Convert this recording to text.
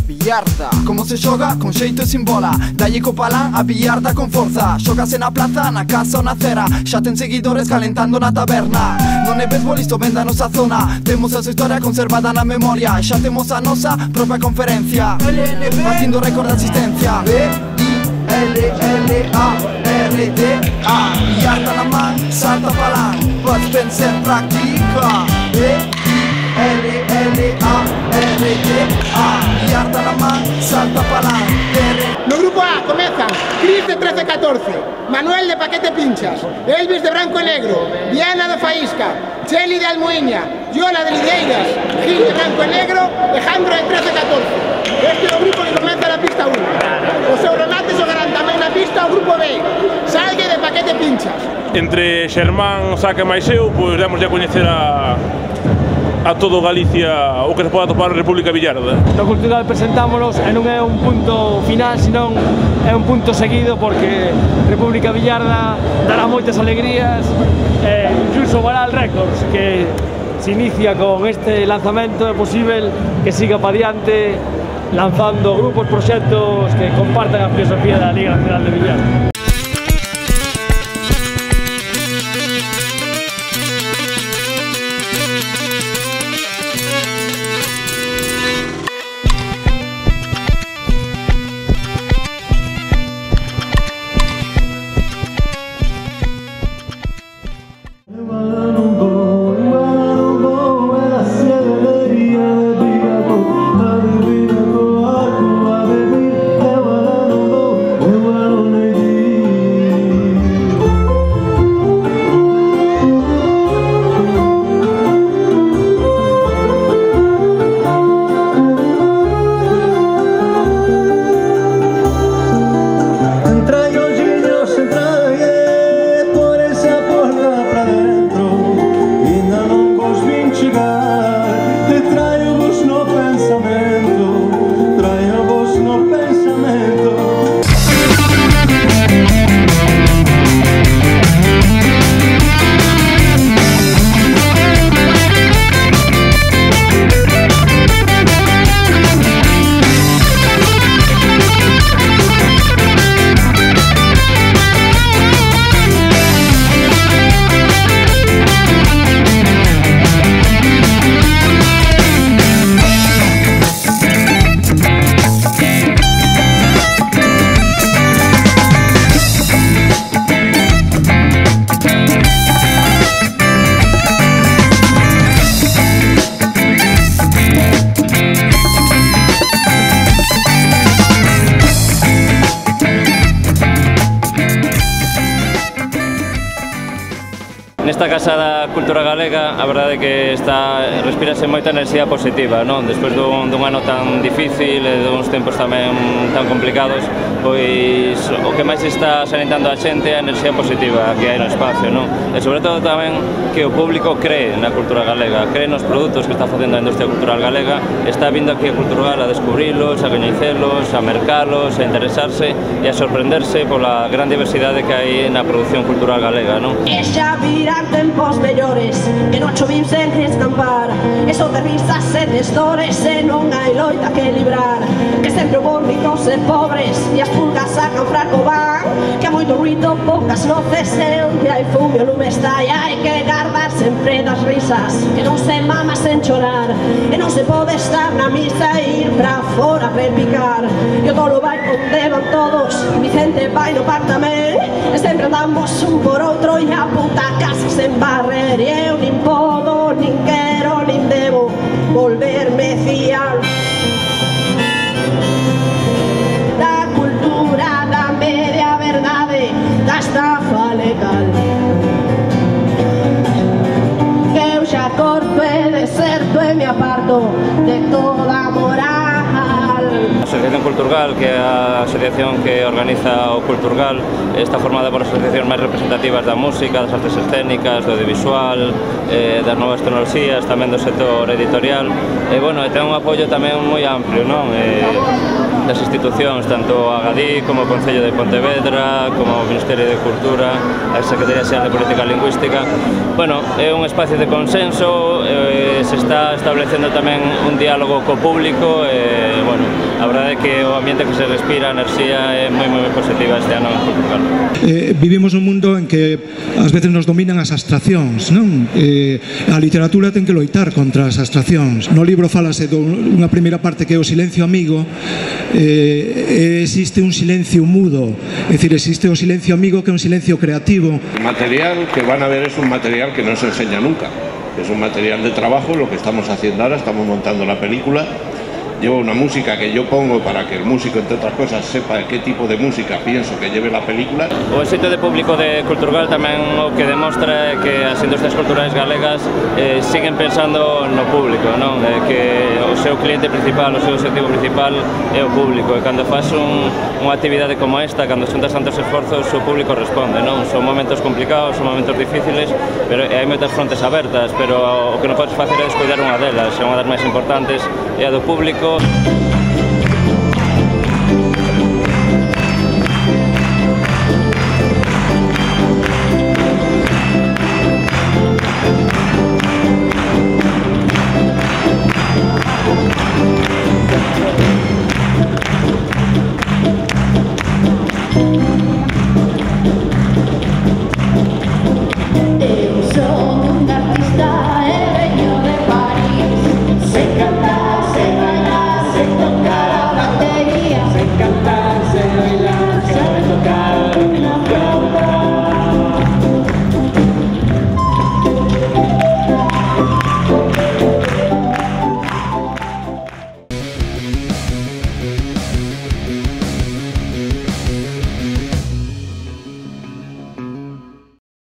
billarda. Como se xoga? Con xeito e sin bola. Dalle co palán a billarda con forza. Xogase na plaza, na casa ou na cera. Xa ten seguidores calentando na taberna. Non é beisbolista, venda a nosa zona. Temos a súa historia conservada na memoria. Xa temos a nosa propia conferencia, facendo récord de asistencia. B-I-L-L-A-R-D-A. Billarda na man, salta palán. Pots pensar en práctica. B-I-L-L-A-R-D-A. Billarda na man, salta palán. No grupo A comezan Cris de 13-14, Manuel de Paquete Pinchas, Elvis de Branco e Negro, Diana de Faísca, Cheli de Almoiña, Yola de Lideiras, Gil de Branco e Negro e Jandro de 13-14. Este é o grupo que comeza na pista 1. O seu remate xogarán tamén na pista o grupo B, Salgue de Paquete Pinchas. Entre Xermán, Saca e máis eu, pois demos a coñecer a todo Galicia o que se pode atopar en República Billarda. No cultural presentámonos e non é un punto final, senón é un punto seguido, porque República Billarda dará moitas alegrías e incluso Varal Records, que se inicia con este lanzamento, é posible que siga para diante lanzando grupos, proxectos que compartan a filosofía da Liga Nacional de Billar. Nesta Casa da Cultura Galega, a verdade é que respirase moita enerxía positiva, non? Despois dun ano tan difícil e duns tempos tamén tan complicados, pois o que máis está sanitando a xente é a enerxía positiva que hai no espacio, non? E sobre todo tamén que o público cree na cultura galega, cree nos produtos que está facendo a industria cultural galega, está vindo aquí a Culturgal a descubrilos, a coñecelos, a mercalos, a interesarse e a sorprenderse pola gran diversidade que hai na produción cultural galega, non? Tempos mellores que non chovim sen escampar, e son de risas e de estores e non hai loita que librar, que sempre houve ricos e pobres e as pulgas sacan fraco van, que hai moito ruido, poucas noces e onde hai fume o lume está, e hai que guardar sempre das risas que non se mama sen chorar, e non se pode estar na misa e ir pra fora a repicar, e o tolo vai onde van todos, Vicente vai no par tamén, e sempre andamos un por outro e a puta casa sen barrer, e eu nin podo, nin quero, nin debo volverme fiar da cultura, da media verdade, da estafa legal. Eu xa corto e deserto e me aparto de toda moral. A Asociación Culturgal, que é a asociación que organiza o Culturgal, está formada por asociacións máis representativas da música, das artes escénicas, do audiovisual, das novas tecnoloxías, tamén do sector editorial, e, bueno, ten un apoio tamén moi amplio, non? das institucións, tanto a Gadí como o Concello de Pontevedra, como o Ministerio de Cultura, a Secretaría Xeral de Política Lingüística. Bueno, é un espacio de consenso, se está establecendo tamén un diálogo co público, bueno, a verdade é que o ambiente que se respira, a enerxía é moi positiva este ano en Portugal. Vivimos nun mundo en que ás veces nos dominan as abstraccións, non? A literatura ten que loitar contra as abstraccións. No libro falase dunha primeira parte que é o silencio amigo, existe un silencio mudo, é dicir, existe o silencio amigo que é un silencio creativo. El material que van a ver es un material que no se enseña nunca, es un material de trabajo, lo que estamos haciendo ahora, estamos montando la película. Llevo una música que yo pongo para que el músico, entre otras cosas, sepa qué tipo de música pienso que lleve la película. O éxito de público de Culturgal tamén o que demostra é que as industrias culturais galegas siguen pensando no público, non? Que o seu cliente principal, o seu objetivo principal é o público, e cando faz unha actividade como esta, cando xuntas tantos esforzos, o público responde, non? Son momentos complicados, son momentos difíciles, pero hai moitas frontes abertas, pero o que non podes facer é descuidar unha delas, é unha das máis importantes, é a do público.